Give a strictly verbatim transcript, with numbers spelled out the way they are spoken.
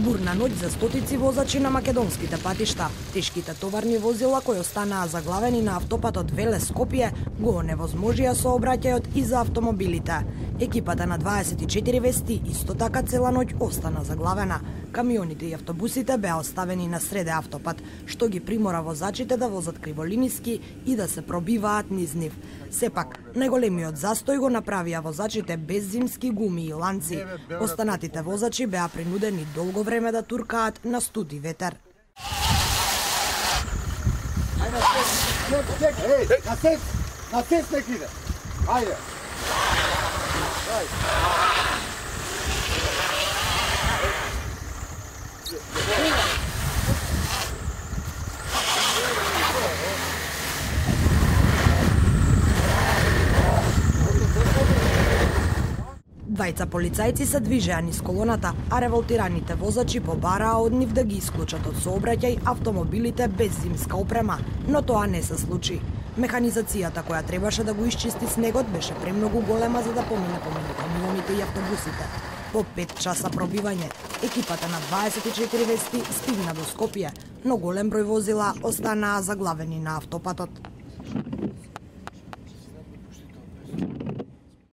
Бурна ноќ за стотици возачи на македонските патишта. Тешките товарни возила кои останаа заглавени на автопатот Велес-Скопје го оневозможија сообраќајот и за автомобилите. Екипата на дваесет и четири вести исто така цела ноќ остана заглавена. Камионите и автобусите беа оставени на среде автопат, што ги примора возачите да возат криволиниски и да се пробиваат низ нив. Сепак, најголемиот застој го направија возачите без зимски гуми и ланци. Останатите возачи беа принудени долго време да туркаат на студ и ветер. Ајде, чек, чек, еј, на сес, на сес нек иде. Ајде. Двајца полицајци се движеа низ колоната, а револтираните возачи побараа од нив да ги исклучат од сообраќај автомобилите без зимска опрема, но тоа не се случи. Механизацијата која требаше да го исчисти снегот беше премногу голема за да помине помеѓу камионите и автобусите. По пет часа пробивање, екипата на дваесет и четири вести стигна до Скопје, но голем број возила останаа заглавени на автопатот.